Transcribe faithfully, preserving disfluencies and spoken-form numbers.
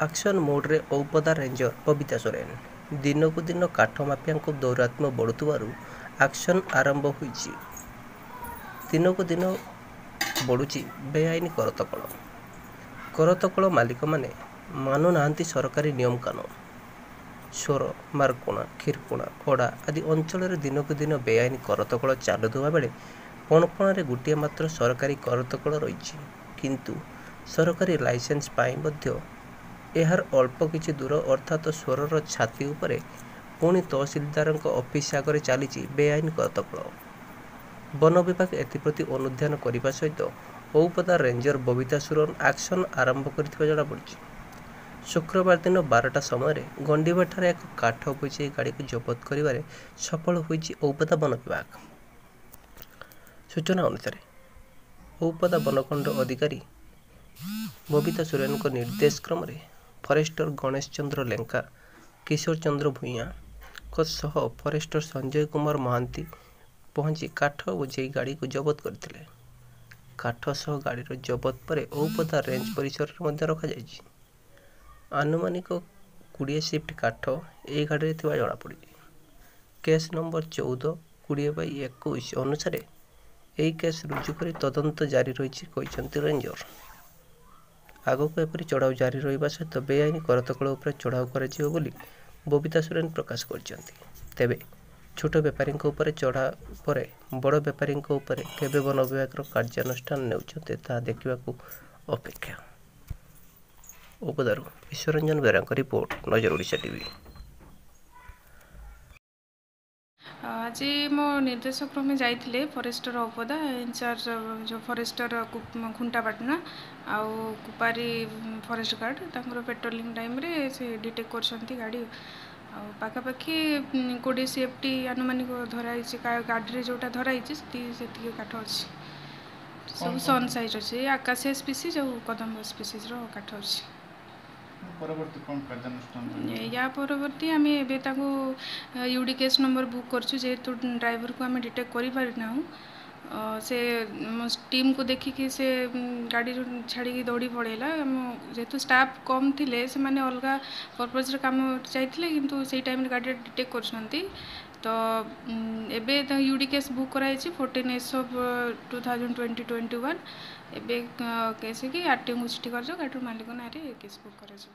Action ମୋଡ଼ରେ ଔପଦା ରେଞ୍ଜର ବବିତା ସୋରେନ। ଦିନକୁ ଦିନ କାଠ ମାଫିଆଙ୍କ ଦୌରାତ୍ମ୍ୟ ବଢ଼ୁଥିବାରୁ ଆକ୍ସନ୍ ଆରମ୍ଭ ହୋଇଛି। ଦିନକୁ ଦିନ ବଢ଼ୁଛି ବେଆଇନ କରତକଳ। କରତକଳ ମାଲିକମାନେ ମାନୁନାହାନ୍ତି ସରକାରୀ ନିୟମକାନୁନ। ସୋର, ମାର୍କୋଣା, କ୍ଷୀରକୋଣା, ଅଡ଼ା ଆଦି ଅଞ୍ଚଳରେ ଦିନକୁ ଦିନ ବେଆଇନ କରତକଳ ଚାଲୁଥିବା ବେଳେ ପଣପଣାରେ ଗୋଟିଏ ମାତ୍ର ସରକାରୀ କରତକଳ ରହିଛି। କିନ୍ତୁ ସରକାରୀ ଲାଇସେନ୍ସ ପାଇଁ ମଧ୍ୟ ଏହାର ଅଳ୍ପ କିଛି ଦୂର ଅର୍ଥାତ ସୋରର ଛାତି ଉପରେ ପୁଣି ତହସିଲଦାରଙ୍କ ଅଫିସ ଆଗରେ ଚାଲିଛି ବେଆଇନ କରତକଳ। ବନ ବିଭାଗ ଏଥିପ୍ରତି ଅନୁଧ୍ୟାନ କରିବା ସହିତ ଔପଦା ରେଞ୍ଜର ବବିତା ସୋରେନ ଆକ୍ସନ ଆରମ୍ଭ କରିଥିବା ଜଣାପଡ଼ିଛି। ଶୁକ୍ରବାର ଦିନ ବାରଟା ସମୟରେ ଗଣ୍ଡିବାଠାରେ ଏକ କାଠ ବୋଝେଇ ଗାଡ଼ିକୁ ଜବତ କରିବାରେ ସଫଳ ହୋଇଛି ଔପଦା ବନ ବିଭାଗ। ସୂଚନା ଅନୁସାରେ ଔପଦା ବନଖଣ୍ଡ ଅଧିକାରୀ ବବିତା ସୋରେନଙ୍କ ନିର୍ଦ୍ଦେଶ କ୍ରମରେ ଫରେଷ୍ଟର ଗଣେଶ ଚନ୍ଦ୍ର ଲେଙ୍କା, କିଶୋର ଚନ୍ଦ୍ର ଭୂଇଁଆଙ୍କ ସହ ଫରେଷ୍ଟର ସଞ୍ଜୟ କୁମାର ମହାନ୍ତି ପହଞ୍ଚି କାଠ ବୋଝେଇ ଗାଡ଼ିକୁ ଜବତ କରିଥିଲେ। କାଠ ସହ ଗାଡ଼ିର ଜବତ ପରେ ଔପଦା ରେଞ୍ଜ ପରିସରରେ ମଧ୍ୟ ରଖାଯାଇଛି। ଆନୁମାନିକ କୋଡ଼ିଏ ସିଫ୍ଟ କାଠ ଏହି ଗାଡ଼ିରେ ଥିବା ଜଣାପଡ଼ିଛି। କେସ୍ ନମ୍ବର ଚଉଦ କୋଡ଼ିଏ ବାଇ ଏକୋଇଶ ଅନୁସାରେ ଏହି କେସ୍ ରୁଜୁ କରି ତଦନ୍ତ ଜାରି ରହିଛି କହିଛନ୍ତି ରେଞ୍ଜର। ଆଗକୁ ଏପରି ଚଢ଼ାଉ ଜାରି ରହିବା ସହିତ ବେଆଇନ କରତକଳ ଉପରେ ଚଢ଼ାଉ କରାଯିବ ବୋଲି ବବିତା ସୋରେନ ପ୍ରକାଶ କରିଛନ୍ତି। ତେବେ ଛୋଟ ବେପାରୀଙ୍କ ଉପରେ ଚଢ଼ା ପରେ ବଡ଼ ବେପାରୀଙ୍କ ଉପରେ କେବେ ବନ ବିଭାଗର କାର୍ଯ୍ୟାନୁଷ୍ଠାନ ନେଉଛନ୍ତି ତାହା ଦେଖିବାକୁ ଅପେକ୍ଷା। ଔପଦାରୁ ବିଶ୍ୱରଞ୍ଜନ ବେହେରାଙ୍କ ରିପୋର୍ଟ, ନଜର ଓଡ଼ିଶା ଟିଭି। ଆଜି ମୋ ନିର୍ଦ୍ଦେଶ କ୍ରମେ ଯାଇଥିଲେ ଫରେଷ୍ଟର ଔପଦା ଇନଚାର୍ଜ ଯେଉଁ ଫରେଷ୍ଟର ଖୁଣ୍ଟାପାଟଣା ଆଉ କୁପାରୀ ଫରେଷ୍ଟ ଗାର୍ଡ଼, ତାଙ୍କର ପେଟ୍ରୋଲିଂ ଟାଇମ୍ରେ ସେ ଡିଟେକ୍ଟ କରିଛନ୍ତି ଗାଡ଼ି। ଆଉ ପାଖାପାଖି କୋଡ଼ିଏ ସି ଏଫ୍ ଟି ଆନୁମାନିକ ଧରା ହେଇଛି। ଗାଡ଼ିରେ ଯେଉଁଟା ଧରା ହେଇଛି ସେତିକି ସେତିକି କାଠ ଅଛି। ସବୁ ସନ୍ ସାଇଜ୍ ଅଛି, ଆକାଶିଆ ସ୍ପିସିଜ୍ ଆଉ କଦମ୍ବ ସ୍ପିସିଜ୍ର କାଠ ଅଛି। ପରବର୍ତ୍ତୀ କ'ଣ କାର୍ଯ୍ୟାନୁଷ୍ଠାନ? ୟା ପରବର୍ତ୍ତୀ ଆମେ ଏବେ ତାକୁ U D case number book କରିଛୁ। ଯେହେତୁ ଡ୍ରାଇଭରକୁ ଆମେ ଡିଟେକ୍ଟ କରିପାରିନାହୁଁ, ସେ ଟିମ୍କୁ ଦେଖିକି ସେ ଗାଡ଼ିରୁ ଛାଡ଼ିକି ଦୌଡ଼ି ପଳେଇଲା। ଆମ ଯେହେତୁ ଷ୍ଟାଫ୍ କମ୍ ଥିଲେ, ସେମାନେ ଅଲଗା ପର୍ପଜ୍ରେ କାମ ଯାଇଥିଲେ, କିନ୍ତୁ ସେଇ ଟାଇମ୍ରେ ଗାଡ଼ିଟା ଡିଟେକ୍ଟ କରୁଛନ୍ତି। ତ ଏବେ ତା ୟୁ ଡି କେସ୍ ବୁକ୍ କରାଯାଇଛି fourteen S of two thousand twenty twenty one. ଏବେ କେସ୍ ହେଇକି ଆର୍ ଟି ଓଙ୍କୁ ଚିଠି କରାଯିବ, ଗାଡ଼ିର ମାଲିକ ନାଁରେ କେସ୍ ବୁକ୍ କରାଯିବ।